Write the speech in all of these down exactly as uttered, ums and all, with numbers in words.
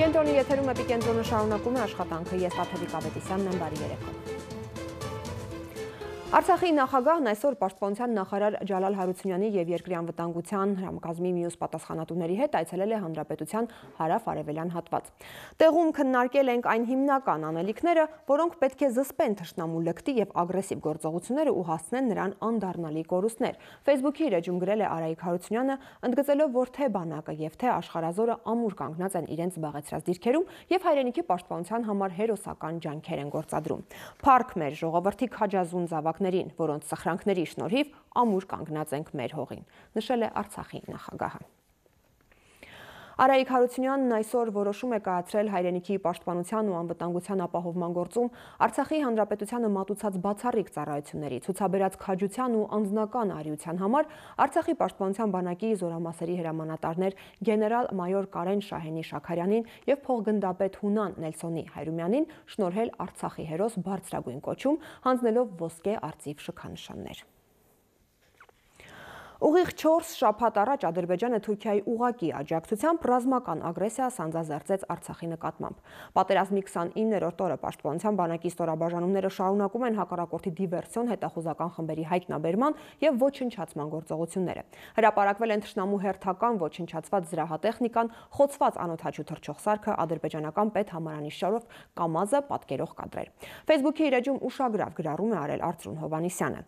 Կենտրոնի եթերում Էպիկենտրոնը շարունակում է աշխատանքը, ես Տաթևիկ Ավետիսյանն եմ, բարի երեկո։ Արցախի նախագահն այսօր Պաշտպանության նախարար Ջալալ Հարությունյանի եւ Երկրի անվտանգության համակազմի մյուս պատասխանատուների հետ այցելել է Հանրապետության հարավ-արևելյան հատված։ Տեղում քննարկել ենք այն հիմնական անելիքները, որոնք պետք է զսպեն թշնամու լկտի եւ ագրեսիվ գործողությունները ու հասցնեն նրան անդառնալի կորուստներ։ Facebook-ի իր էջում գրել է Արայիկ Հարությունյանը, ընդգծելով, որ թե բանակը եւ թե աշխարհազորը ամուր կանգնած են իրենց զբաղեցրած դիրքերում եւ հայրենիքի պաշտպանության համար հերոսական ջանքեր են գործադրում։ Փառք մեր ժողովրդի քաջազուն զավակներին, որոնց սխրանքների շնորհիվ ամուր կանգնած ենք մեր հողին, նշել է Արցախի նախագահը։ Արայիկ Հարությունյանն այսօր որոշում է կայացրել հայրենիքի պաշտպանության ու անվտանգության ապահովման գործում Արցախի հանրապետությանը մատուցած բացառիկ ծառայությունների, ցուցաբերած քաջության ու անձնական արիության համար Արցախի պաշտպանության բանակի զորամասերի հրամանատարներ գեներալ-մայոր Կարեն Շահենի Շաքարյանին եւ փոխգնդապետ Հունան Նելսոնի Հայրումյանին շնորհել Արցախի հերոս բարձրագույն կոչում, հանձնելով ոսկե արծիվ շքանշաններ։ Ուղիղ չորս շաբաթ առաջ Ադրբեջանը Թուրքիայի ուղղակի աջակցությամբ ռազմական ագրեսիա սանձազերծեց Արցախի նկատմամբ։ Պատերազմի քսանիններորդ օրը Պաշտպանության բանակի ստորաբաժանումները շարունակում են հակառակորդի դիվերսիոն հետախուզական խմբերի հայտնաբերման եւ ոչնչացման գործողությունները։ Հրապարակվել են թշնամու հերթական ոչնչացված զրահատեխնիկան, խոցված անօդաչու թռչող սարքը, ադրբեջանական պետհամարանիշարով կամազը, պատկերող կադրեր։ Facebook-ի իր էջում ուշագրավ գրառում է արել Արծրուն Հովհաննիսյանը։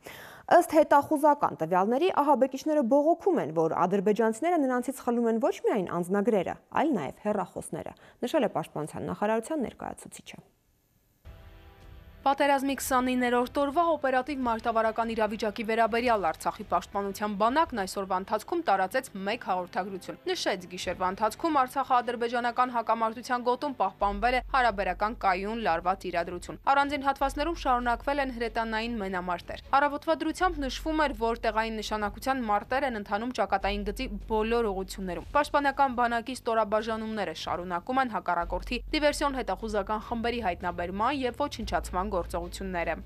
Ըստ հետախուզական տվյալների ահաբեկիչները բողոքում են, որ ադրբեջանցիները նրանցից խլում են ոչ միայն անձնագրերը, այլ նաև հեռախոսները, նշել է Պաշտպանության նախարարության ներկայացուցիչը։ Պատերազմի քսանիններորդ օրվա օպերատիվ մարտավարական իրավիճակի վերաբերյալ Արցախի պաշտպանության բանակն այսօրվա ընթացքում տարածեց մեկ հաղորդագրություն։ Նշեց, գիշերվա ընթացքում Արցախա-ադրբեջանական հակամարտության գոտում պահպանվել է հարաբերական կայուն լարված իրադրություն։ Առանձին հատվածներում շարունակվել են հրետանային մենամարտեր։ Առավոտվա դրությամբ նշվում էր, որ տեղային նշանակության մարտեր են ընթանում ճակատային գծի բոլոր ուղղություններում։ Պաշտպանական բանակի ստորաբաժանումները շարունակում են հակառակորդի դիվերսիոն հետախուզական խմբերի հայտնաբերման եւ ոչնչացման գործողությունները։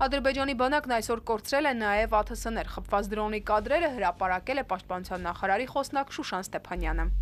Ադրբեջանի բանակն այսօր կորցրել է նաև ԱԹՍ-ներ, խփված դրոնի կադրերը հրապարակել է Պաշտպանության նախարարի խոսնակ Շուշան Ստեփանյանը։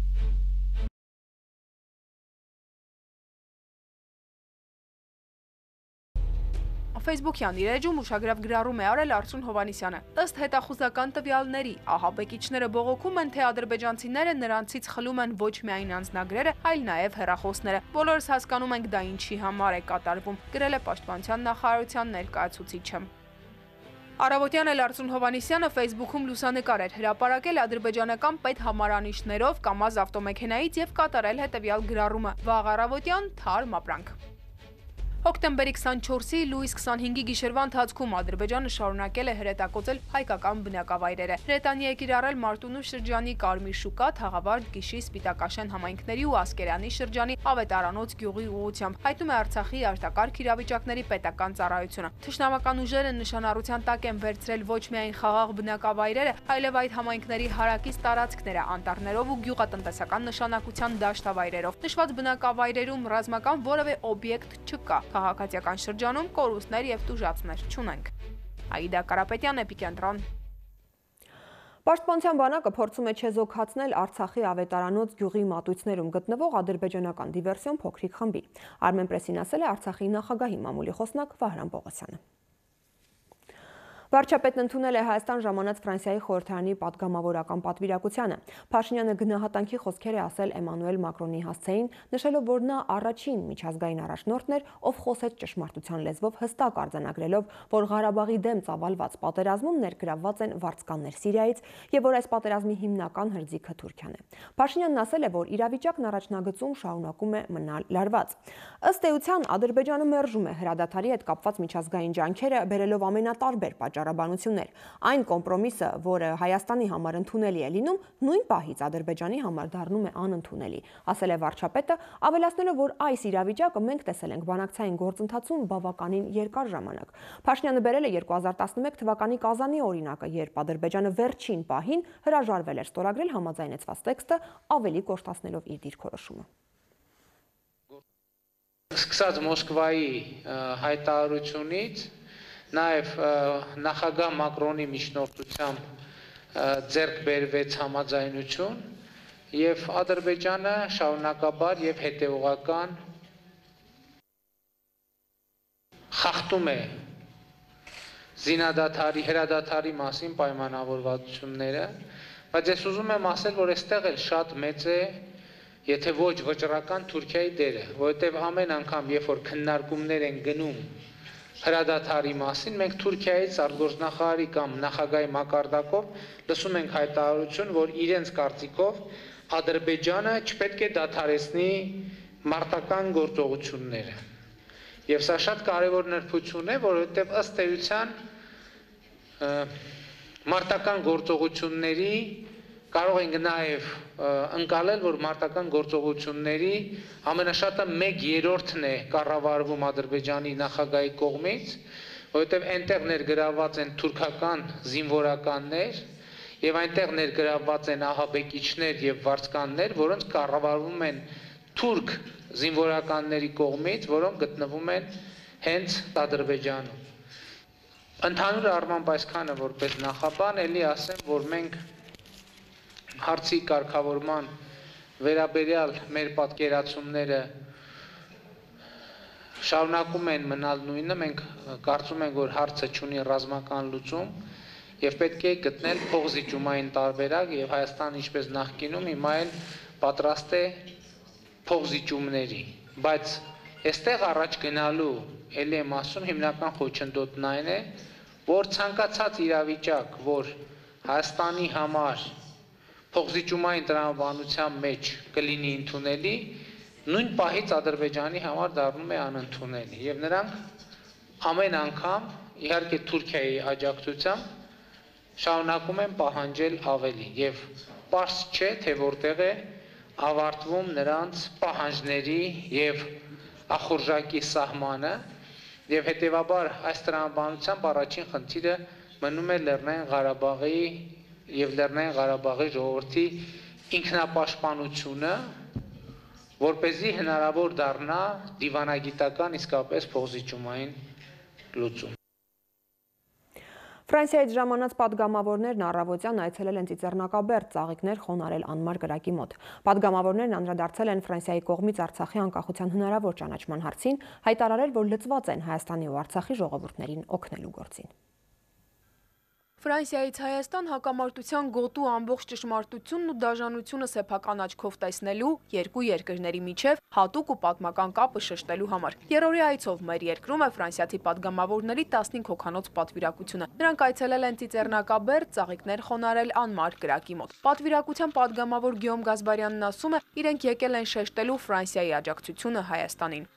Facebook-յան իր էջում ուշագրավ գրառում է արել Արծրուն Հովհաննիսյանը։ Ըստ հետախուզական տվյալների, ահաբեկիչները բողոքում են, թե ադրբեջանցիները նրանցից խլում են ոչ միայն անձնագրերը, այլ նաև հեռախոսները։ Բոլորս հասկանում ենք դա ինչի համար է կատարվում, գրել է Պաշտպանության նախարարության ներկայացուցիչը։ Առավոտյան էլ Արծրուն Հովհաննիսյանը Facebook-ում լուսանկար էր հրապարակել ադրբեջանական պետհամարանիշներով կամազ ավտոմեքենայից եւ կատարել հետեւյալ գրառումը՝ վաղ առավոտյան թարմ ապրանք։ Հոկտեմբերի քսանչորսի լույս քսանհինգի գիշերվա ընթացքում Ադրբեջանը շարունակել է հրետակոծել հայկական բնակավայրերը։ Հրետանի է կիրառել Մարտունու շրջանի Կարմիր շուկա, Թաղավարտ, Գիշի, Սպիտակաշեն համայնքների ու Ասկերանի շրջանի Ավետարանոց գյուղի ուղղությամբ, հայտնում է Արցախի արտակարգ իրավիճակների պետական ծառայությունը։ Թշնամական ուժերը նշանառության տակ են վերցրել ոչ միայն խաղաղ բնակավայրերը, այլև այդ համայնքների հարակից տարածքները անտառներով ու գյուղատնտեսական նշանակության դաշտավայրերով։ Նշված բնակավայրերում ռազմական որևէ օբյեկտ չկա։ Քաղաքացիական շրջանում կորուստներ եւ տուժածներ չունենք։ Աիդա Կարապետյան, Էպիկենտրոն։ Պաշտպանության բանակը փորձում է չեզոքացնել Արցախի Ավետարանոց գյուղի մատույցներում գտնվող ադրբեջանական դիվերսիոն փոքրիկ խմբի։ Արմեն պրեսին ասել է Արցախի նախագահի մամուլի խոսնակ Վահրամ Պողոսյանը։ Վարչապետն ընդունել է Հայաստան ժամանած Ֆրանսիայի խորհրդարանի պատգամավորական պատվիրակությանը։ Փաշինյանը գնահատանքի խոսքեր է ասել Էմանուել Մակրոնի հասցեին, նշելով, որ նա առաջին միջազգային առաջնորդն էր, ով խոսեց ճշմարտության լեզվով, հստակ արձանագրելով, որ Ղարաբաղի դեմ ծավալված պատերազմում ներգրավված են վարձկաններ Սիրիայից եւ որ այս պատերազմի հիմնական հրձիգը Թուրքիան է։ Փաշինյանն ասել է, որ իրավիճակն առաջնագծում շարունակում է մնալ լարված։ Ըստ էության, Ադրբեջանը մերժում է հրադադարի հետ կապված միջազգային ջանքերը, բերելով ամենատարբեր պատճառ վճարաբանություններ։ Այն կոմպրոմիսը, որը Հայաստանի համար ընդունելի է լինում, նույն պահից Ադրբեջանի համար դառնում է անընդունելի, ասել է վարչապետը, ավելացնելով, որ այս իրավիճակը մենք տեսել ենք բանակցային գործընթացում բավականին երկար ժամանակ։ Փաշինյանը բերել է երկու հազար տասնմեկ թվականի Կազանի օրինակը, երբ Ադրբեջանը վերջին պահին հրաժարվել էր ստորագրել համաձայնեցված տեքստը, ավելի կոշտացնելով իր դիրքորոշումը։ Սկսած Մոսկվայի հայտարարությունից, նաև նախագահ Մակրոնի միջնորդությամբ ձեռք բերվեց համաձայնություն եւ Ադրբեջանը շարունակաբար եւ հետեւողական խախտում է զինադադարի, հրադադարի մասին պայմանավորվածությունները, բայց ես ուզում եմ ասել, որ այստեղ էլ շատ մեծ է եթե ոչ վճռական Թուրքիայի դերը, որովհետև ամեն անգամ, երբ որ քննարկումներ են գնում հրադադարի մասին, մենք Թուրքիայից արտգործնախարարի կամ նախագահի մակարդակով լսում ենք հայտարարություն, որ իրենց կարծիքով Ադրբեջանը չպետք է դադարեցնի մարտական գործողությունները։ Եվ սա շատ կարևոր նրբություն է, որովհետև ըստ էության մարտական գործողությունների կարող ենք նաև ընկալել, որ մարտական գործողությունների ամենաշատը մեկ երրորդն է կառավարվում Ադրբեջանի նախագահի կողմից, որովհետև այնտեղ ներգրավված են թուրքական զինվորականներ եւ այնտեղ ներգրավված են ահաբեկիչներ եւ վարձկաններ, որոնց կառավարվում են թուրք զինվորականների կողմից, որոնք գտնվում են հենց Ադրբեջանում։ Ընդհանուր առմամբ այսքանը որպես նախաբան, ելի ասեմ, որ մենք հարցի կարգավորման վերաբերյալ մեր պատկերացումները շարունակում են մնալ նույնը, մենք կարծում ենք, որ հարցը չունի ռազմական լուծում եւ պետք է գտնել փոխզիջումային տարբերակ եւ Հայաստանը ինչպես նախկինում հիմա էլ պատրաստ է փոխզիջումների, բայց այստեղ առաջ գնալու ելի եմ ասում հիմնական խոչընդոտն այն է, որ ցանկացած իրավիճակ, որ Հայաստանի համար փոխզիջումային տրամաբանության մեջ կլինի ընդունելի, նույն պահից Ադրբեջանի համար դառնում է անընդունելի եւ նրանք ամեն անգամ իհարկե Թուրքիայի աջակցությամբ շարունակում են պահանջել ավելի եւ պարզ չէ թե որտեղ է ավարտվում նրանց պահանջների եւ ախորժակի սահմանը եւ հետեւաբար այս տրամաբանությամբ առաջին խնդիրը մնում է Լեռնային Ղարաբաղի եւ Լեռնային Ղարաբաղի ժողովրդի ինքնապաշտպանությունը, որպեսզի հնարավոր դառնա դիվանագիտական իսկապես փոխզիջումային լուծում։ Ֆրանսիայից ժամանած պատգամավորներն առավոտյան այցելել են Ծիծեռնակաբերդ ծաղիկներ խոնարհել անմար կրակի մոտ։ Պատգամավորներն անդրադարձել են Ֆրանսիայի կողմից Արցախի անկախության հնարավոր ճանաչման հարցին, հայտարարել, որ լծված են Հայաստանի ու Արցախի ժողովուրդներին օգնելու գործին։ Ֆրանսիայից Հայաստան հակամարտության գոտու ամբողջ ճշմարտությունն ու դաժանությունը սեփական աչքով տեսնելու երկու երկրների միջև հատուկ ու պատմական կապը շեշտելու համար։ Երրորդի այցով մեր երկրում է ֆրանսիացի պատգամավորների տասնհինգ հոգանոց պատվիրակությունը։ Նրանք այցելել են Ծիծեռնակաբերդ ծաղիկներ խոնարհել անմար կրակի մոտ։ Պատվիրակության պատգամավոր Գյոմ Գազբարյանն ասում է, իրենք եկել են շեշտելու Ֆրանսիայի աջակցությունը Հայաստանին։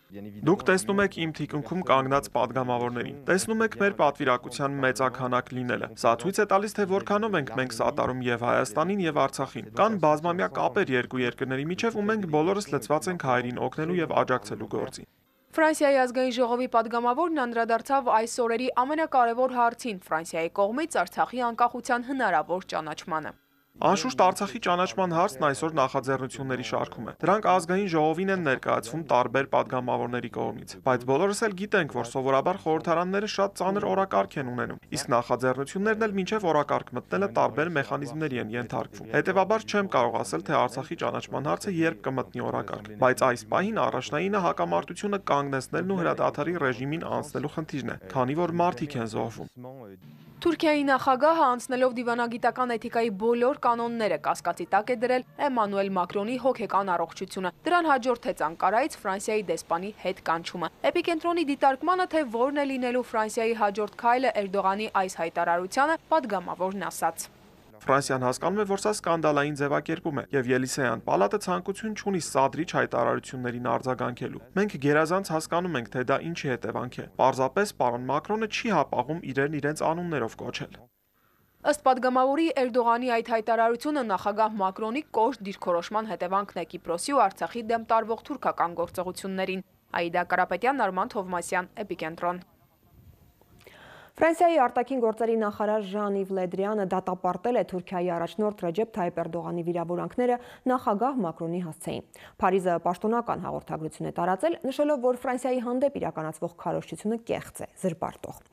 Դուք տեսնում եք իմ թիկունքում կանգնած պատգամավորներին։ Տեսնում եք մեր պատվիրակության մեծաքանակ լինելը։ Սա ցույց է տալիս, թե որքանով ենք մենք սատարում եւ Հայաստանին եւ Արցախին։ Կան բազմամյա կապեր երկու երկրների միջև, ու մենք բոլորս լծված ենք հայերին օգնելու եւ աջակցելու գործին։ Ֆրանսիայի ազգային ժողովի պատգամավորն անդրադարձավ այս օրերի ամենակարևոր հարցին՝ Ֆրանսիայի կողմից Արցախի անկախության հնարավոր ճանաչմանը։ Անշուշտ Արցախի ճանաչման հարցն այսօր նախաձեռնությունների շարքում է։ Դրանք ազգային ժողովին են ներկայացվում տարբեր պատգամավորների կողմից, բայց բոլորս էլ գիտենք, որ սովորաբար խորհրդարանները շատ ծանր օրակարգ են ունենում, իսկ նախաձեռնություններն էլ մինչև օրակարգ մտնելը տարբեր մեխանիզմների են ենթարկվում։ Հետևաբար չեմ կարող ասել, թե Արցախի ճանաչման հարցը երբ կմտնի օրակարգ, բայց այս պահին առաջնայինը հակամարտությունը կանգնեցնելն ու հրադադարի ռեժիմին անցնելու խնդիրն է, քանի որ մարդիկ են զոհվում։ Թուրքիայի նախագահը անցնելով դիվանագիտական էթիկայի բոլոր կանոնները կասկածի տակ է դրել Էմանուել Մակրոնի հոգեկան առողջությունը։ Դրան հաջորդեց Անկարայից Ֆրանսիայի դեսպանի հետ կանչումը։ Էպիկենտրոնի դիտարկմանը, թե որն է լինելու Ֆրանսիայի հաջորդ քայլը Էրդողանի այս հայտարարությանը, պատգամավորն ասաց. Ֆրանսիան հասկանում է, որ սա սկանդալային ձևակերպում է, եւ Ելիսեյան պալատը ցանկություն չունի սադրիչ հայտարարություններին արձագանքելու։ Մենք գերազանց հասկանում ենք, թե դա ինչի հետևանք է։ Պարզապես պարոն Մակրոնը չի հապաղում իրեն իրենց անուններով կոչել։ Ըստ падգամավորի Էրդողանի այդ հայտարարությունը նախագահ Մակրոնի կոշտ դիրքորոշման հետևանքն է Կիպրոսի ու Արցախի դեմ տարվող թուրքական գործողություններին։ Աիդա Կարապետյան, Արման Թովմասյան, Էպիկենտրոն։ Ֆրանսիայի արտաքին գործերի նախարար Ժան-Իվ Լեդրիանը դատապարտել է Թուրքիայի առաջնորդ Ռեջեփ Թայիփ Էրդողանի վիրավորանքները նախագահ Մակրոնի հասցեին։ Փարիզը պաշտոնական հաղորդագրություն է տարածել, նշելով, որ Ֆրանսիայի հանդեպ իրականացվող քարոզչությունը կեղծ է, զրպարտող։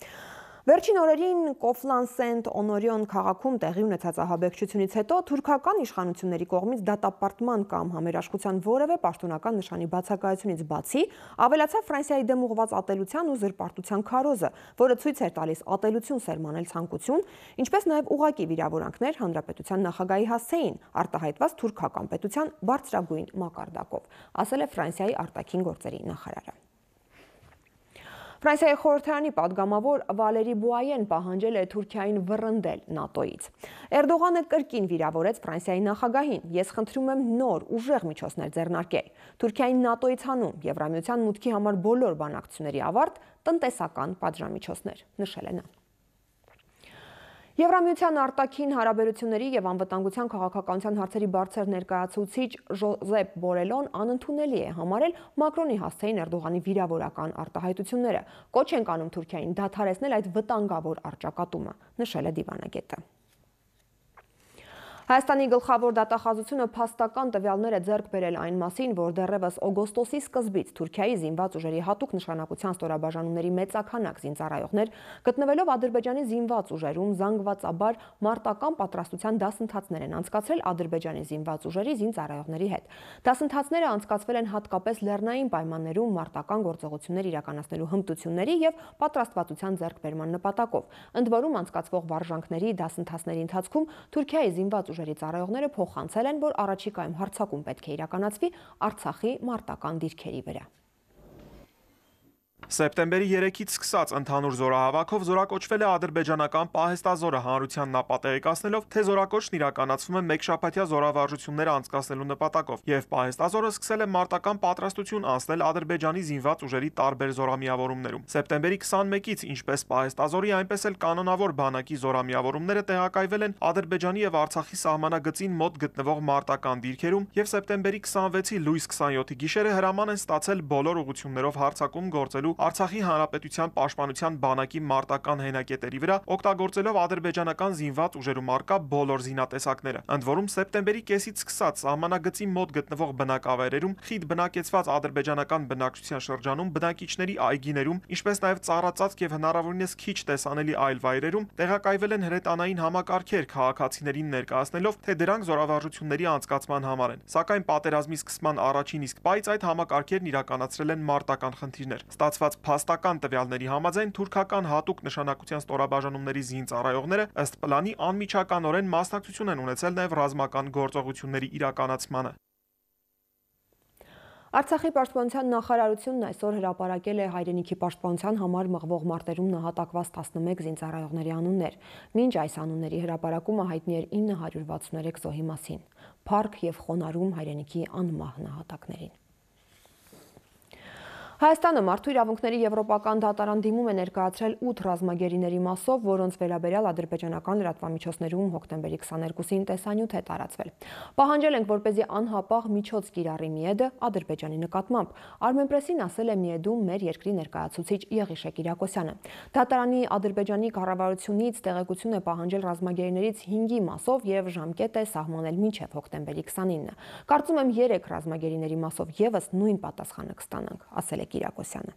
Վերջին օրերին Կոֆլան-Սենտ Օնորիոն քաղաքում տեղի ունեցած ահաբեկչությունից հետո թուրքական իշխանությունների կողմից դատապարտման կամ համերաշխության որևէ պաշտոնական նշանի բացակայությունից բացի ավելացավ Ֆրանսիայի դեմ ուղղված ատելության ու զրպարտության քարոզը, որը ցույց էր տալիս ատելություն սերմանել ցանկություն, ինչպես նաև ուղղակի վիրավորանքներ հանրապետության նախագահի հասցեին, արտահայտված թուրքական պետության բարձրագույն մակարդակով, ասել է Ֆրանսիայի արտաքին գործերի նախարարը։ Ֆրանսիայի խորհրդարանի падգամավոր Վալերի Բուայեն պահանջել է Թուրքիային վռնդել ՆԱՏՕ-ից։ Էրդողանը կրկին վիրավորեց Ֆրանսիայի նախագահին. «Ես խնդրում եմ նոր ուժեղ միջոցներ ձեռնարկել։ Թուրքիային ՆԱՏՕ-ից հանում, Եվրամիության մուտքի համար բոլոր բանակցությունների ավարտ, տնտեսական պատժամիջոցներ», նշել է նա։ Եվրամիության արտաքին հարաբերությունների եւ անվտանգության քաղաքականության հարցերի բարձր ներկայացուցիչ Ժոզեփ Բորելոն անընդունելի է համարել Մակրոնի հասցեին Էրդողանի վիրավորական արտահայտությունները։ Կոչ են անում Թուրքիային դադարեցնել այդ վտանգավոր առճակատումը, նշել է դիվանագետը։ Հայաստանի գլխավոր դատախազությունը փաստական տվյալներ է ձեռք բերել այն մասին, որ դեռևս օգոստոսի սկզբից Թուրքիայի զինված ուժերի հատուկ նշանակության ստորաբաժանումների մեծաքանակ զինծառայողներ գտնվելով Ադրբեջանի զինված ուժերում զանգվածաբար մարտական պատրաստության դասընթացներ են անցկացրել Ադրբեջանի զինված ուժերի զինծառայողների հետ։ Դասընթացները անցկացվել են հատկապես լեռնային պայմաններում մարտական գործողություններ իրականացնելու հմտությունների եւ պատրաստվածության ձեռքբերման նպատակով։ Ընդ որում անցկացվող վարժանքների դասընթացների ընթացքում Թուրքիայի զինված ուժերի ծառայողները փոխանցել են, որ առաջիկայում հարձակում պետք է իրականացվի Արցախի մարտական դիրքերի վրա։ Սեպտեմբերի երեքից սկսած ընդհանուր զորահավաքով զորակոչվել է ադրբեջանական պահեստազորը հանրությանն ապատեղեկացնելով, թե զորակոչն իրականացվում է մեկշաբաթյա զորավարժություններ անցկացնելու նպատակով, եւ պահեստազորը սկսել է մարտական պատրաստություն անցնել Ադրբեջանի զինված ուժերի տարբեր զորամիավորումներում։ Սեպտեմբերի քսանմեկից ինչպես պահեստազորի, այնպես էլ կանոնավոր բանակի զորամիավորումները տեղակայվել են Ադրբեջանի եւ Արցախի սահմանագծին մոտ գտնվող մարտական դիրքերում, եւ սեպտեմբերի քսանվեցի լույս քսանյոթի գիշերը հրաման են ստացել բոլոր ուղղություններով հարձակում գործելու Արցախի հանրապետության պաշտպանության բանակի մարտական հենակետերի վրա, օգտագործելով ադրբեջանական զինված ուժերում առկա բոլոր զինատեսակները։ Ընդ որում սեպտեմբերի կեսից սկսած սահմանագծի մոտ գտնվող բնակավայրերում, խիտ բնակեցված ադրբեջանական բնակչության շրջանում, բնակիչների այգիներում, ինչպես նաև ծառածածկ եւ հնարավորինս քիչ տեսանելի այլ վայրերում տեղակայվել են հրետանային համակարգեր քաղաքացիներին ներկայացնելով, թե դրանք զորավարժությունների անցկացման համար են։ Սակայն պատերազմի սկսման առաջին իսկ պայծ այդ համակարգերն իրականացրել են մարտական խնդիրներ։ Ստացված փաստական տվյալների համաձայն թուրքական հատուկ նշանակության ստորաբաժանումների զինծառայողները ըստ պլանի անմիջականորեն մասնակցություն են ունեցել նաև ռազմական գործողությունների իրականացմանը։ Արցախի պաշտպանության նախարարությունն այսօր հրապարակել է հայրենիքի պաշտպանության համար մղվող մարտերում նահատակված տասնմեկ զինծառայողների անուններ։ Մինչ այս անունների հրապարակումը հայտնի էր ինը հարյուր վաթսուներեք զոհի մասին։ Փառք եւ խոնարհում հայրենիքի անմահ նահատակներին։ Հայաստանը մարդու իրավունքների եվրոպական դատարան դիմում է ներկայացրել ութ ռազմագերիների մասով, որոնց վերաբերյալ ադրբեջանական լրատվամիջոցներում հոկտեմբերի քսաներկուսին տեսանյութ է տարածվել։ Պահանջել ենք, որպեսզի անհապաղ միջոց կիրառի ՄԻԵԴ-ը Ադրբեջանի նկատմամբ։ Armenpress-ին ասել է ՄԻԵԴ-ում մեր երկրի ներկայացուցիչ Եղիշե Կիրակոսյանը։ Դատարանի Ադրբեջանի կառավարությունից տեղեկություն է պահանջել ռազմագերիներից հինգի մասով եւ ժամկետ է սահմանել մինչեւ հոկտեմբերի քսանինը։ Կարծում եմ երեք ռազմագերիների մասով եւս նույն պատասխանը կստանանք, ասել է Կիրակոսյանը։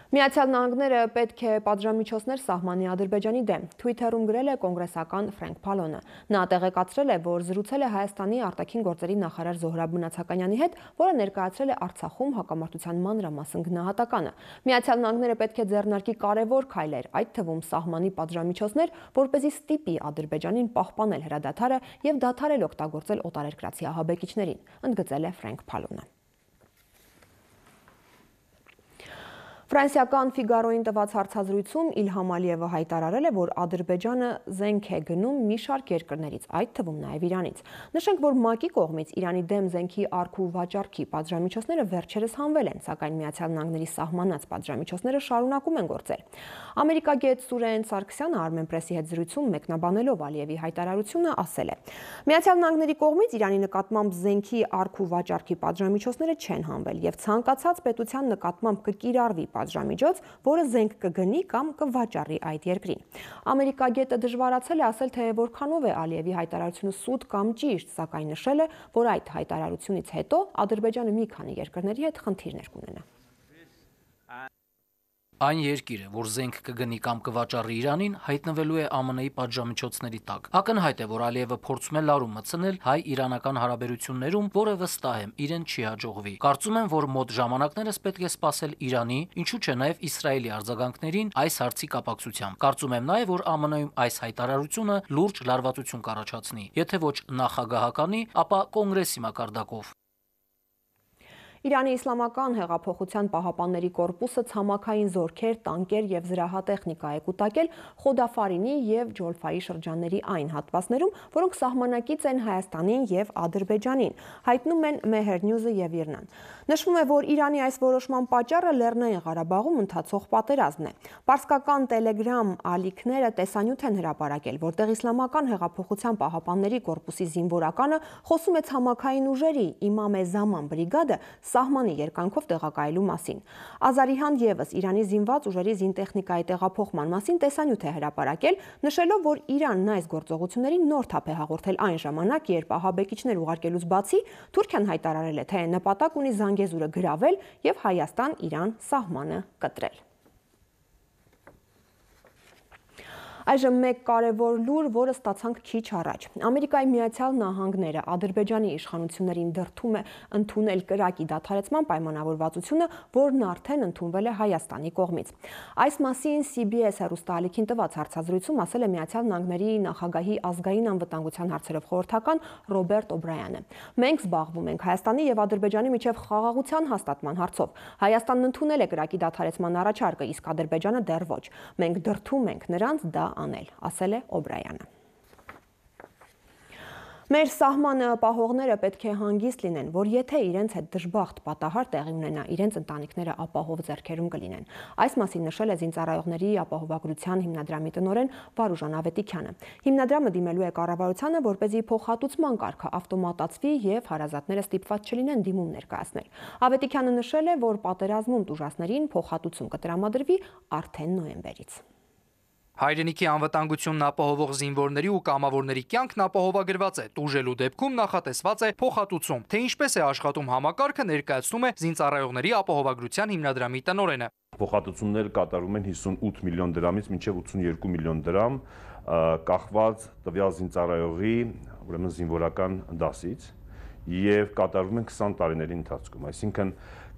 Միացյալ Նահանգները պետք է պատժամիջոցներ սահմանի Ադրբեջանի դեմ, Twitter-ում գրել է կոնգրեսական Ֆրենկ Փալոնը։ Նա տեղեկացրել է, որ զրուցել է Հայաստանի արտաքին գործերի նախարար Զոհրաբ Մնացականյանի հետ, որը ներկայացրել է Արցախում հակամարտության մանրամասն գնահատականը։ Միացյալ Նահանգները պետք է ձեռնարկի կարևոր քայլեր, այդ թվում սահմանի պատժամիջոցներ, որպեսզի ստիպի Ադրբեջանին պահպանել հրադադարը եւ դադարել օգտագործել օտարերկրացի ահաբեկիչներին, ընդգծել է Ֆրենկ Փալոնը։ Ֆրանսիական Ֆիգարոին տված հարցազրույցում Իլհամ Ալիևը հայտարարել է, որ Ադրբեջանը զենք է գնում մի շարք երկրներից, այդ թվում նաև Իրանից։ Նշենք, որ ՄԱԿ-ի կողմից Իրանի դեմ զենքի առք ու վաճառքի պատժամիջոցները վերջերս հանվել են, սակայն Միացյալ Նահանգների սահմանած պատժամիջոցները շարունակում են գործել։ Ամերիկագետ Սուրեն Սարգսյանը Armenpress-ի հետ զրույցում մեկնաբանելով Ալիևի հայտարարությունը ասել է. Միացյալ Նահանգների կողմից Իրանի նկատմամբ զենքի առք ու վաճառքի պատժամիջոցները չեն հանվել եւ ցանկացած պետության նկատմամբ կկիրառվի պատժամիջոց, որը զենք կգնի կամ կվաճառի այդ երկրին։ Ամերիկագետը դժվարացել է ասել, թե որքանով է Ալիևի հայտարարությունը սուտ կամ ճիշտ, սակայն նշել է, որ այդ հայտարարությունից հետո Ադրբեջանը մի քանի երկրների հետ խնդիրներ կունենա։ Այն երկիրը, որ զենք կգնի կամ կվաճառի Իրանին, հայտնվելու է Α M N-ի պատժամիջոցների տակ։ Ակնհայտ է, որ Ալիևը փորձում է լարում մտցնել հայ-իրանական հարաբերություններում, որը վստահ եմ, իրեն չի հաջողվի։ Կարծում եմ, որ մոտ ժամանակներս պետք է սպասել Իրանի, ինչու՞ չէ նաև Իսրայելի արձագանքներին այս հարցի կապակցությամբ։ Կարծում եմ նաև, որ Α M N-ում այս հայտարարությունը լուրջ լարվածություն կառաջացնի, եթե ոչ նախագահականի, ապա կոնգրեսի մակարդակով։ Իրանի Իսլամական հեղափոխության պահապանների կորպուսը ցամաքային զորքեր, տանկեր եւ զրահատեխնիկա է կուտակել Խոդաֆարինի եւ Ջոլֆայի շրջանների այն հատվածներում, որոնք սահմանակից են Հայաստանին եւ Ադրբեջանին, հայտնում են Մեհեր Նյուզը եւ Իրնան։ Նշվում է, որ Իրանի այս որոշման պատճառը Լեռնային Ղարաբաղում ընթացող պատերազմն է։ Պարսկական Telegram ալիքները տեսանյութ են հրապարակել, որտեղ Իսլամական հեղափոխության պահապանների կորպուսի զինվորականը խոսում է ցամաքային ուժերի Իմամ Զաման բրիգադը սահմանի երկանքով տեղակայելու մասին։ Ազարիհան եւս Իրանի զինված ուժերի զինտեխնիկայի տեղափոխման մասին տեսանյութ է հրապարակել, նշելով, որ Իրանն այս գործողություններին նոր թափ է հաղորդել այն ժամանակ, երբ ահաբեկիչներ ուղարկելուց բացի Թուրքիան հայտարարել է, թե նպատակ ունի Զանգեզուրը գրավել եւ Հայաստան-Իրան սահմանը կտրել։ Այժմ մեկ կարևոր լուր, որը ստացանք քիչ առաջ։ Ամերիկայի Միացյալ Նահանգները Ադրբեջանի իշխանություններին դրդում է ընդունել կրակի դադարեցման պայմանավորվածությունը, որն արդեն ընդունվել է Հայաստանի կողմից։ Այս մասին C B S հեռուստաալիքին տված հարցազրույցում ասել է Միացյալ Նահանգների նախագահի ազգային անվտանգության հարցերով խորհրդական Ռոբերտ Օբրայանը։ Մենք զբաղվում ենք Հայաստանի եւ Ադրբեջանի միջև խաղաղության հաստատման հարցով։ Հայաստանն ընդունել է կրակի դադարեցման առաջարկը, իսկ Ադրբեջանը դեռ ոչ։ Մենք դրդում ենք նրանց դա անել, ասել է Օբրայանը։ Մեր սահմանը պահողները պետք է հանգիստ լինեն, որ եթե իրենց հետ դժբախտ պատահար տեղի ունենա, իրենց ընտանիքները ապահով ձեռքերում կլինեն։ Այս մասին նշել է Զինծառայողների ապահովագրության հիմնադրամի տնօրեն Վարուժան Ավետիքյանը։ Հիմնադրամը դիմելու է կառավարությանը, որպեսզի փոխհատուցման կարգը ավտոմատացվի եւ հարազատները ստիպված չլինեն դիմում ներկայացնել։ Ավետիքյանը նշել է, որ պատերազմում տուժածներին փոխհատուցում կտրամադրվի արդեն նոյեմբերից։ Հայրենիքի անվտանգությունն ապահովող զինվորների ու կամավորների կյանքն ապահովագրված է, տուժելու դեպքում նախատեսված է փոխհատուցում, թե ինչպես է աշխատում համակարգը ներկայացնում է Զինծառայողների ապահովագրության հիմնադրամի տնօրենը։ Փոխհատուցումները կատարվում են հիսունութ միլիոն դրամից մինչև ութսունյոթ միլիոն դրամ, կախված տվյալ զինծառայողի, ուրեմն զինվորական դասից, եւ կատարվում են քսան տարիների ընթացքում, այսինքն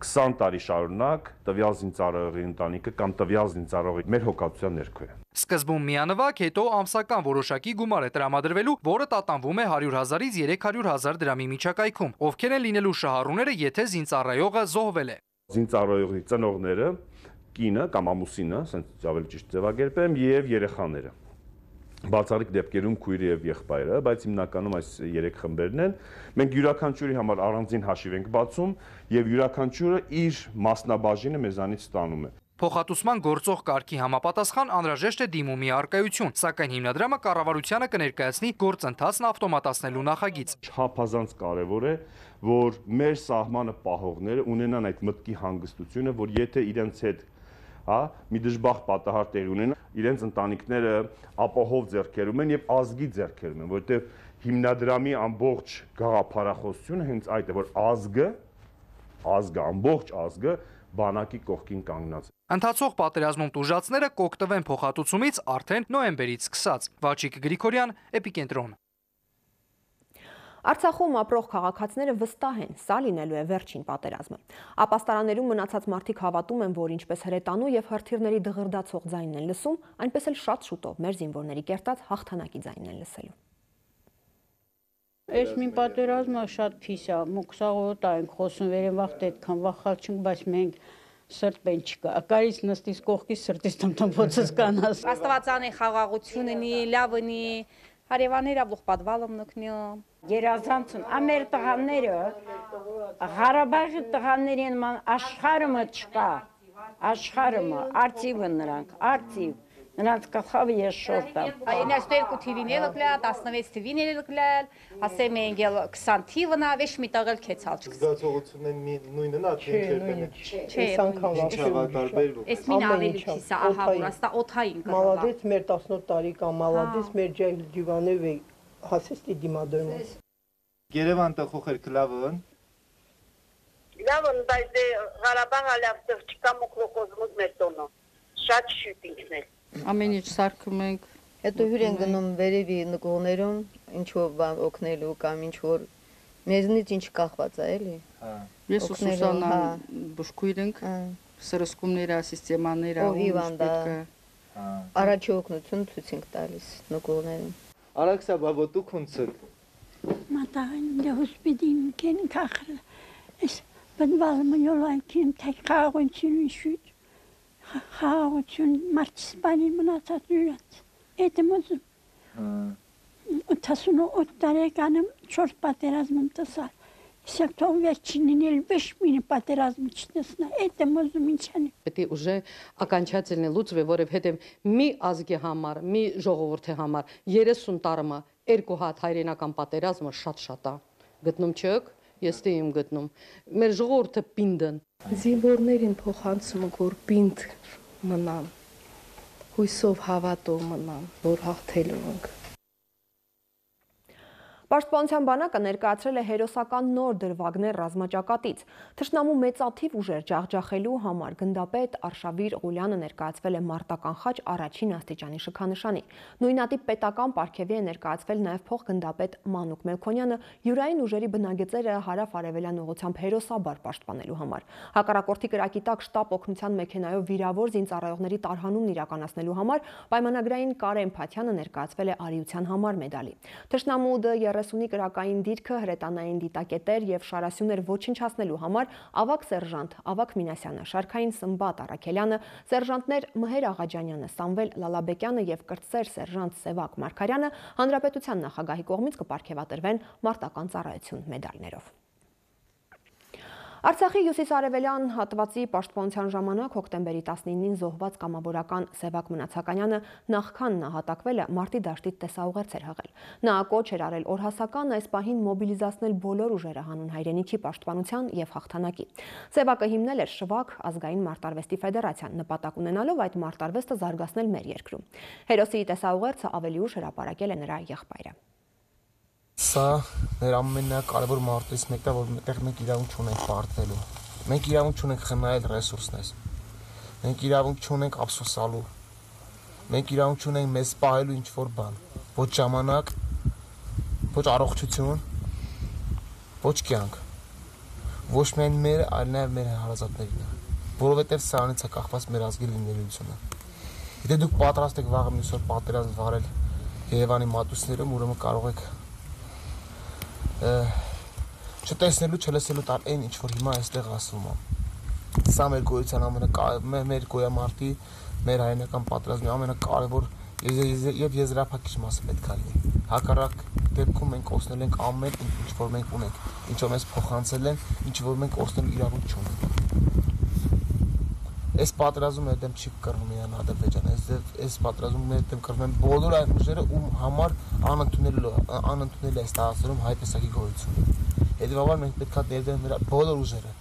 քսան տարի շարունակ տվյալ զինծառայողի ընտանիքը կամ տվյալ զինծառայողի մեր հոգատության ներքո է։ Սկզբում միանվագ, հետո ամսական որոշակի գումար է տրամադրվելու, որը տատանվում է հարյուր հազարից երեք հարյուր հազար դրամի միջակայքում։ Ովքեր են լինելու շահառուները, եթե զինծառայողը զոհվել է։ Զինծառայողի ծնողները, կինը կամ ամուսինը, ասենք ավելի ճիշտ ձևակերպեմ, եւ երեխաները։ Բացառիկ դեպքերում քույրը եւ եղբայրը, բայց հիմնականում այս երեք խմբերն են։ Մենք յուրաքանչյուրի համար առանձին հաշիվ ենք բացում եւ յուրաքանչյուրը իր մասնաբաժինը մեզանից ստանում է։ Փոխհատուցման գործող կարգի համապատասխան անհրաժեշտ է դիմումի առկայություն, սակայն հիմնադրամը կառավարությանը կներկայացնի գործընթացն ավտոմատացնելու նախագիծ։ Չափազանց կարևոր է, որ մեր սահմանը պահողները ունենան այդ մտքի հանգստությունը, որ եթե իրենց հետ հա մի դժբախտ պատահար տեղի ունենա, իրենց ընտանիքները ապահով ձեռքերում են եւ ազգի ձեռքերում են, որովհետեւ հիմնադրամի ամբողջ գաղափարախոսությունը հենց այդ է, որ ազգը, ազգը, ամբողջ ազգը բանակի կողքին կանգնած է։ Ընթացող պատերազմում տուժածները կօգտվեն փոխհատուցումից արդեն նոյեմբերից սկսած։ Վաչիկ Գրիգորյան, Էպիկենտրոն։ Արցախում ապրող քաղաքացիները վստահ են, սա լինելու է վերջին պատերազմը։ Ապաստարաններում մնացած մարդիկ հավատում են, որ ինչպես հրետանու եւ հրթիռների դղրդացող ձայնն են լսում, այնպես էլ շատ շուտով մեր զինվորների կերտած հաղթանակի ձայնն են լսելու։ Այս մի պատերազմը շատ փիս է, մոքսաղոտ ենք խոսում, վերևախտ այդքան վախալ չենք, բայց մենք սրտեն չկա։ Ակարից նստիս կողքից սրտից տմտմոցս կանաս։ Աստվածանի խաղաղություն ունի, լավ ունի, հարևանները բուխ պատվալում նկնյում։ Երազանցուն, ամեր տղաները, Ղարաբաղի տղաներին ման աշխարհը չկա, աշխարհը, արծիվը նրանք, արծիվ, նրանց կխավը ես շորտամ։ Այն այս երկու թիվին էլ կլալ, տասնվեց թիվին էլ կլալ, ասեմ են գել քսան թիվն ավեշ մի տաղել քեցալ չկս։ Զգացողությունն նույնն է, թե ինչերպեն է։ Չէ, տարբերվում։ Էս մին ավելի քիսա, ահա որ աստա օթային կա։ Մալադեց մեր տասնութ տարի կա, մալադեց մեր ջայլ դիվանև է հասեստի դիմադրում։ Երևան տխոխեր կլավն։ Լավն, բայց դե Ղարաբաղը լավ չկա մոկրոկոզմոս մեր տոնը։ Շատ շուտ ինքնել։ Ամեն ինչ սարքում ենք։ Հետո հյուր են գնում վերևի նկողներում, ինչ-որ բան օգնելու կամ ինչ-որ մեզնից ինչ կախված է, էլի։ Ես ու Սուսանա բուժքույր ենք, սրսկումները, սիստեմաները, ում պետք է։ Առաջի օգնություն ցույց ենք տալիս նկողներում։ Արաքսա բաբոտու քունցը։ Մատաղին դե հոսպիտին կեն կախր։ Ես բնվալը յոլայքին թեք խաղաղություն շուտ։ Խաղաղություն մարցսպանի մնացած յուրած։ Էդը մոզում։ ութասունութ տարեկանım չորս պատերազմում տեսալ։ Իսկ թող վերջինին էլ վեշ մինը պատերազմը չտեսնա։ Էդը մոզում ինչանի։ Պետք է ուժը окончательно լուծվի, որովհետև մի ազգի համար, մի ժողովրդի համար երեսուն տարի երկու հատ հայրենական պատերազմը շատ-շատ է։ Գտնում չեք, ես դե եմ գտնում։ Մեր ժողովուրդը պինդն։ Զինվորներին փոխանցում ենք, որ պինդ մնան, հույսով հավատով մնան, որ հաղթելու ենք։ Պաշտպանության բանակը ներկայացրել է հերոսական նոր դրվագներ ռազմաճակատից։ Թշնամու մեծաթիվ ուժեր ջախջախելու համար գնդապետ Արշավիր Ղուլյանը ներկայացվել է մարտական խաչ առաջին աստիճանի շքանշանի։ Նույնատիպ պետական պարգևի է ներկայացվել նաև փոխգնդապետ Մանուկ Մելքոնյանը յուրային ուժերի բնագծերը հարավ-արևելյան ուղղությամբ հերոսաբար պաշտպանելու համար։ Հակառակորդի կրակի տակ շտապ օգնության մեքենայով վիրավոր զինծառայողների տարհանումն իրականացնելու համար պայմանագրային Կարեն Փաթյանը ներկայացվել է արիության համար մեդալի։ Թշնամու Դ երեսունի կրակային դիրքը, հրետանային դիտակետեր և շարասյուներ ոչնչացնելու համար ավագ սերժանտ Ավագ Մինասյանը, շարքային Սմբատ Առաքելյանը, սերժանտներ Մհեր Աղաջանյանը, Սամվել Լալաբեկյանը և կրտսեր սերժանտ Սևակ Մարգարյանը Հանրապետության նախագահի կողմից կպարգևատրվեն մարտական ծառայություն մեդալներով։ Արցախի հյուսիս-արևելյան հատվածի պաշտպանության ժամանակ հոկտեմբերի տասնինին զոհված կամավորական Սևակ Մնացականյանը նախքան նահատակվելը մարտի դաշտից տեսաուղերձ էր հղել։ Նա կոչ էր արել օրհասական այս պահին մոբիլիզացնել բոլոր ուժերը հանուն հայրենիքի պաշտպանության և հաղթանակի։ Սևակը հիմնել էր Շվակ ազգային մարտարվեստի ֆեդերացիան, նպատակ ունենալով այդ մարտարվեստը զարգացնել մեր երկրում։ Հերոսի տեսաուղերձը ավելի ուշ հրապարակել է նրա եղբայրը։ Սա մեր ամենակարևոր մարտերից մեկն է, որ այդտեղ մենք իրավունք չունենք պարտվելու։ Մենք իրավունք չունենք խնայել ռեսուրսներս։ Մենք իրավունք չունենք ափսոսալու։ Մենք իրավունք չունենք մեզ պահելու ինչ-որ բան։ Ոչ ժամանակ, ոչ առողջություն, ոչ կյանք։ Ոչ միայն մեր, այլ նաև մեր հարազատներին է։ Որովհետև սրանից է կախված մեր ազգի լինելիությունը։ Եթե դուք պատրաստ եք վաղը մյուս օր պատերազմ վարել Երևանի մատուցներում, ուրեմն կարող եք չտեսնելու, չլսելու տալ այն ինչ որ հիմա այստեղ ասվում է։ Սա մեր գոյության ամենակարևոր, մեր գոյամարտի, մեր հայրենական պատերազմի ամենակարևոր եւ եզրափակիչ մասը պետք է լինի։ Հակառակ դեպքում մենք օգնել ենք ամեն ինչ որ մենք ունենք, ինչ որ մեզ փոխանցել են, ինչ որ մենք օգնելու իրավունք չունենք։ Այս պատերազմը դեմ չի կռվում Իրան Ադրբեջանը, այս պատերազմը մեր դեմ կռվում են բոլոր այն ուժերը, ում համար անընդունելի անընդունելի է ստացվում հայ տեսակի գոյությունը։ Հետևաբար մենք պետք է ներդնենք նրա բոլոր ուժերը,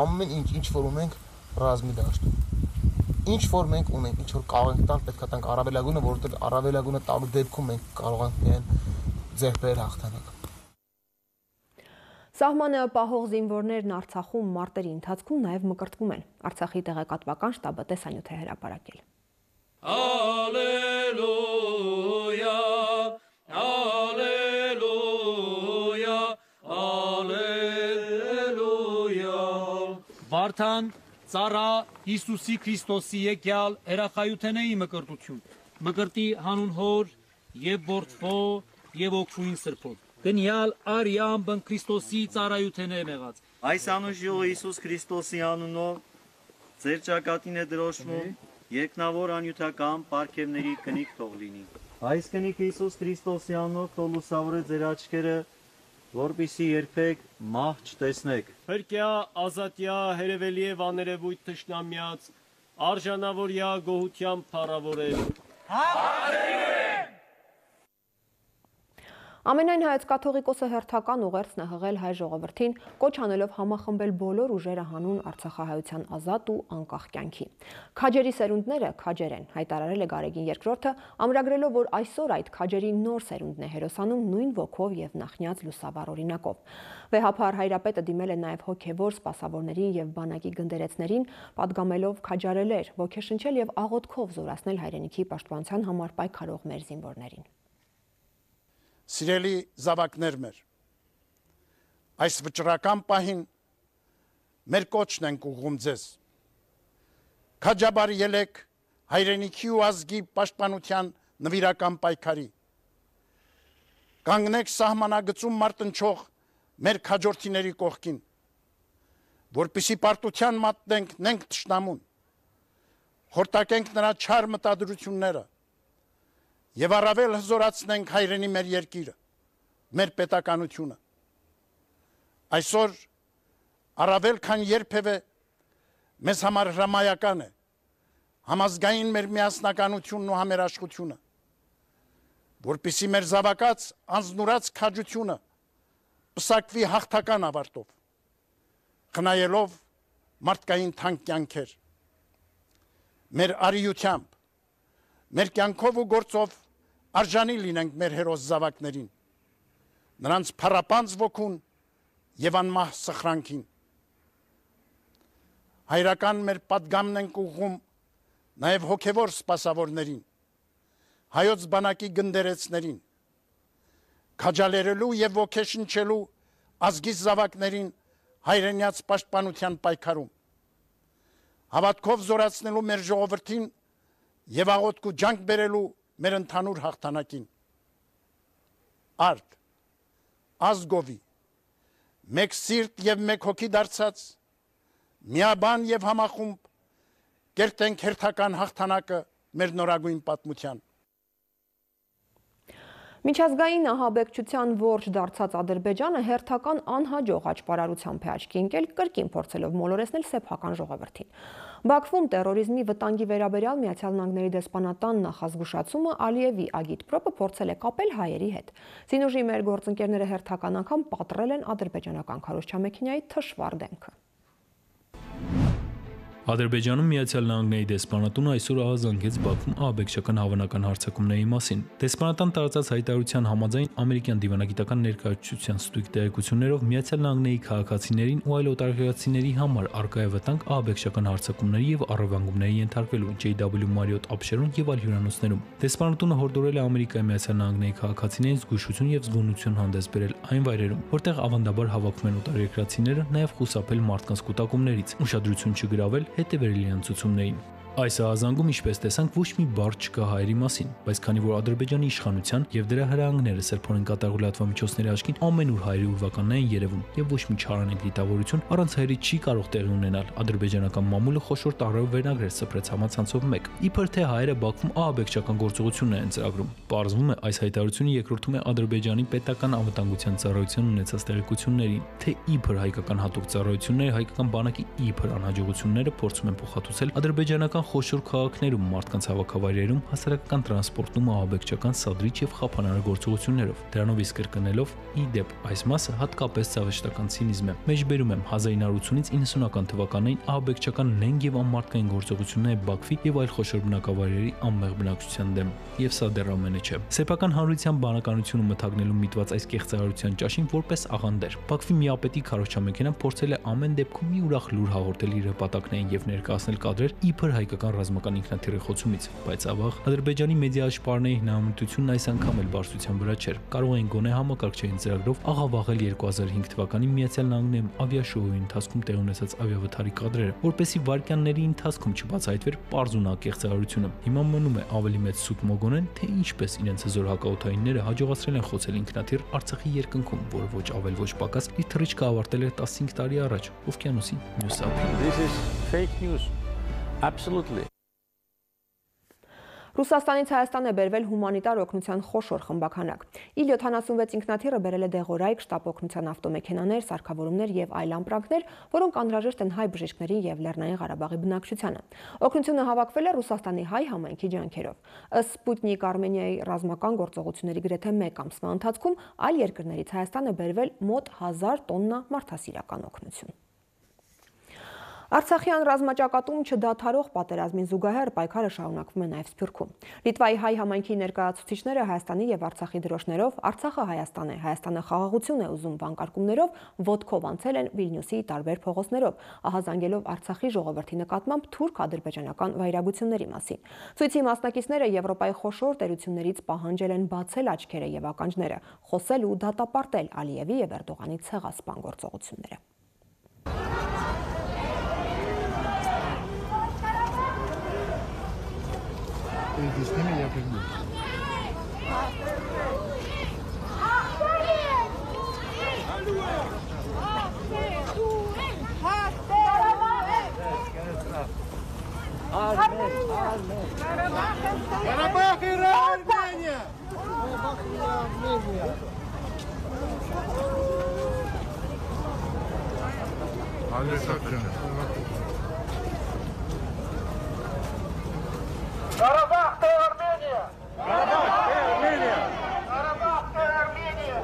ամեն ինչ ինչ որ ունենք ռազմի դաշտում։ Ինչ որ մենք ունենք, ինչ որ կարող ենք տալ, պետք է տանք առավելագույնը, որովհետև առավելագույնը տալու դեպքում մենք կարող ենք միայն ձեռք բերել հաղթանակ։ Սահմանը պահող զինվորներն Արցախում մարտերի ընթացքում նաև մկրտվում են։ Արցախի տեղեկատվական շտաբը տեսանյութ է հրապարակել։ Ալելույա, ալելույա, ալելույա։ Վարդան ծառա Հիսուսի Քրիստոսի եկյալ երախայութենեի մկրտություն։ Մկրտի հանուն հոր եւ որդվո եւ օգնուին սրբոտ։ Գնյալ արիամ բն Քրիստոսի ծառայութենե մեղած։ Այս անուշ Հիսուս Քրիստոսի անունով ձեր ճակատին է դրոշվում երկնավոր անյութական պարգևների կնիկ թող լինի։ Այս կնիկը Հիսուս Քրիստոսի անունով թող լուսավորե ձեր աչքերը, որպեսզի երբեք մահ չտեսնեք։ Հրկյա, ազատյա, հերևելի է վաներևույթ թշնամյաց, արժանավորյա գոհությամբ փառավորել։ Ամենայն հայոց կաթողիկոսը հերթական ուղերձն է հղել հայ ժողովրդին, կոչ անելով համախմբել բոլոր ուժերը հանուն Արցախահայության ազատ ու անկախ կյանքի։ Քաջերի սերունդները քաջեր են, հայտարարել է Գարեգին երկրորդը, ամրագրելով, որ այսօր այդ քաջերի նոր սերունդն է հերոսանում նույն ոգով եւ նախնյաց լուսաբար օրինակով։ Վեհափար Հայրապետը դիմել է նաեւ հոգեվոր սպասավորներին եւ բանակի գնդերեցներին, պատգամելով քաջարելեր, ոգեշնչել եւ աղոթքով զորացնել հայրենիքի պաշտպանության համար պայքարող մեր զինվորներին։ Սիրելի զավակներ մեր, այս վճռական պահին մեր կոչն ենք ուղղում ձեզ։ Քաջաբար ելեք հայրենիքի ու ազգի պաշտպանության նվիրական պայքարի։ Կանգնեք սահմանագծում մարտնչող մեր քաջորդիների կողքին, որպեսզի պարտության մատնենք նենք թշնամուն, խորտակենք նրա չար մտադրությունները եւ առավել հզորացնենք հայրենի մեր երկիրը, մեր պետականությունը։ Այսօր առավել քան երբևէ մեզ համար հրամայական է համազգային մեր միասնականությունն ու համերաշխությունը, որպեսզի մեր զավակած անձնուրաց քաջությունը պսակվի հաղթական ավարտով, խնայելով մարդկային թանկ կյանքեր։ Մեր արիությամբ, մեր կյանքով ու գործով արժանի լինենք մեր հերոս զավակներին, նրանց փառապանծ ոգուն եւ անմահ սխրանքին։ Հայրական մեր պատգամն ենք ուղղում նաեւ հոգեվոր սպասավորներին, հայոց բանակի գնդերեցներին, քաջալերելու եւ ոգեշնչելու ազգի զավակներին հայրենյաց պաշտպանության պայքարում, հավատքով զորացնելու մեր ժողովրդին եւ աղոթք ու ջանք բերելու մեր ընդհանուր հաղթանակին։ Արդ, ազգովի, մեկ սիրտ եւ մեկ հոգի դարձած, միաբան եւ համախումբ կերտենք հերթական հաղթանակը մեր նորագույն պատմության։ Միջազգային ահաբեկչության ողջ դարձած Ադրբեջանը հերթական անհաջող աճպարարությամբ է աչքի ընկել, կրկին փորձելով մոլորեցնել սեփական ժողովրդին։ Բաքվում տերորիզմի վտանգի վերաբերյալ Միացյալ Նահանգների դեսպանատան նախազգուշացումը Ալիևի ագիտպրոպը փորձել է կապել հայերի հետ։ Զինուժի մեր գործընկերները հերթական անգամ պատռել են ադրբեջանական քարոզչամեքենայի թշվառ դեմքը։ Ադրբեջանում Միացյալ Նահանգների դեսպանատունը այսօր ահազանգեց Բաքվում ահաբեկչական հավանական հարձակումների մասին։ Դեսպանատան տարածած հայտարարության համաձայն ամերիկյան դիվանագիտական ներկայացության ստույգ տեղեկություններով Միացյալ Նահանգների քաղաքացիներին ու այլ օտարերկրացիների համար առկա է վտանգ ահաբեկչական հարձակումների եւ առևանգումների ենթարկվելու J W Marriott ապշերուն եւ այլ հյուրանոցներում։ Դեսպանատունը հորդորել է Ամերիկայի Միացյալ Նահանգների քաղաքացիներին զգուշություն եւ զգոնություն հանդես բերել այն վայրերում, որտեղ ավանդաբար հավաքվում են օտարերկրացիները, նաեւ խուսափել մարդկանց կուտակումներից, ուշադրություն չգրավել հետևելիան ցուցումներին։ Այս ահազանգում, ինչպես տեսանք, ոչ մի բառ չկա հայերի մասին, բայց քանի որ Ադրբեջանի իշխանության եւ դրա հրահանգները սրբորեն կատարող լրատվամիջոցների աչքին ամենուր հայերի ուրվականն են երևում եւ ոչ մի չարանենգ դիտավորություն առանց հայերի չի կարող տեղի ունենալ, ադրբեջանական մամուլը խոշոր տառերով վերնագրեր սփռեց համացանցով մեկ, իբր թե հայերը Բաքվում ահաբեկչական գործողություններ են ծրագրում։ Պարզվում է, այս հայտարարությունը երկրորդում է Ադրբեջանի պետական անվտանգության ծառայության ունեցած տեղեկություններին, թե իբր հայկական հատուկ ծառայությունները հայկական բանակի իբր անհաջողությունները փորձում են փոխհատուցել ադրբեջանական խոշոր քաղաքներում, մարդկանց հավաքավայրերում, հասարակական տրանսպորտում ահաբեկչական սադրիչ եւ խափանարար գործողություններով։ Դրանով իսկ կրկնելով, ի դեպ, այս մասը հատկապես ցավեշտական ցինիզմ է։ Մեջբերում եմ հազար ինը ութսունից իննսունական թվականներին ահաբեկչական նենգ եւ անմարդկային գործողությունները Բաքվի եւ այլ խոշոր բնակավայրերի անմեղ բնակչության դեմ։ Եվ սա դեռ ամենը չէ։ Սեփական հանրության բանականությունը մթագնելու միտված այս կեղծարարության ճաշին որպես աղանդեր։ Բաքվի միապետի քարոզչամեքենան փորձել է ամեն դեպքում մի ուրախ լուր հաղորդել իր հպատակներին եւ ներկայացնել կադրեր իբր հայկական ռազմական ինքնաթիռի խոցումից, բայց ավաղ Ադրբեջանի մեդիա աշխարհների հնամտությունն այս անգամ էլ բարձրության վրա չէր։ Կարող էին գոնե համակարգչային ծրագրով աղավաղել երկու հազար հինգ թվականի Միացյալ Նահանգներում ավիաշոուի ընթացքում տեղի ունեցած ավիավթարի կադրերը, որպեսզի վայրկյանների ընթացքում չբացահայտվեր պարզունակ կեղծարարությունը։ Հիմա մնում է ավելի մեծ սուտ մոգոնեն, թե ինչպես իրենց հզոր հակաօդայինները հաջողացրել են խոցել ինքնաթիռ Արցախի երկնքում, որը ոչ ավել ոչ պակաս իր թռիչքը ավարտել էր տասնհինգ տարի առաջ օվկիանոսի մյուս ափին։ This is fake news. Absolutely. Ռուսաստանից Հայաստան է բերվել հումանիտար օգնության խոշոր խմբականակ։ իլ յոթանասունվեց ինքնաթիռը բերել է դեղորայք, շտապ օգնության ավտոմեքենաներ, սարքավորումներ եւ այլ ամպրանքներ, որոնք անհրաժեշտ են հայ բժիշկներին եւ Լեռնային Ղարաբաղի բնակչությանը։ Օգնությունը հավաքվել է Ռուսաստանի հայ համայնքի ջանքերով։ Ըստ Սպուտնիկ Արմենիայի ռազմական գործողությունների գրեթե մեկ ամսվա ընթացքում այլ երկրներից Հայաստան է բերվել մոտ հազար տոննա մարդասիրական օգնություն։ Արցախյան ռազմաճակատում չդադարող պատերազմին զուգահեռ պայքարը շարունակվում է նաև Սփյուռքում։ Լիտվայի հայ համայնքի ներկայացուցիչները Հայաստանի եւ Արցախի դրոշներով «Արցախը Հայաստան է, Հայաստանը խաղաղություն է ուզում» վանկարկումներով ոտքով անցել են Վիլնյուսի տարբեր փողոցներով, ահազանգելով Արցախի ժողովրդի նկատմամբ թուրք ադրբեջանական վայրագությունների մասին։ Ցույցի մասնակիցները Եվրոպայի խոշոր տերություններից պահանջել են բացել աչքերը եւ ականջները, խոսել ու դատապարտել Ալիևի եւ Էրդողանի ցեղասպան գործողությունները։ С ними я прыгну. Карабах и Армения! Карабах и Армения! Карабах и Армения! Карабах и Армения! Карабах и Армения! Карабах и Армения!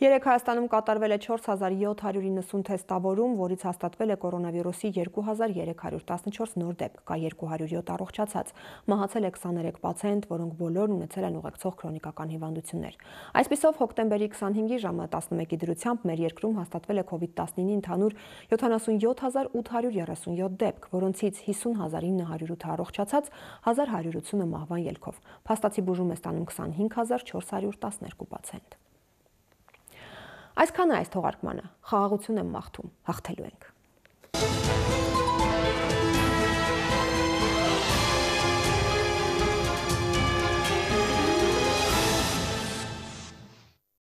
Երեկ Հայաստանում կատարվել է չորս հազար յոթ հարյուր իննսուն թեստավորում, որից հաստատվել է կորոնավիրուսի երկու հազար երեք հարյուր տասնչորս նոր դեպք, կա երկու հարյուր յոթ առողջացած, մահացել է քսաներեք պացիենտ, որոնք բոլորն ունեցել են ուղեկցող քրոնիկական հիվանդություններ։ Այսպիսով հոկտեմբերի քսանհինգի ժամը տասնմեկի դրությամբ մեր երկրում հաստատվել է քովիդ տասնինի ընդհանուր յոթանասունյոթ հազար ութ հարյուր երեսունյոթ դեպք, որոնցից հիսուն հազար ինը հարյուր ութ առողջացած, հազար հարյուր ութսունը մահվան ելքով։ Փաստացի բուժում է ստանում քսանհինգ հազար չորս հարյուր տասներկու պացիենտ։ Այսքանը այս թողարկմանը, խաղաղություն եմ մաղթում, հաղթելու ենք։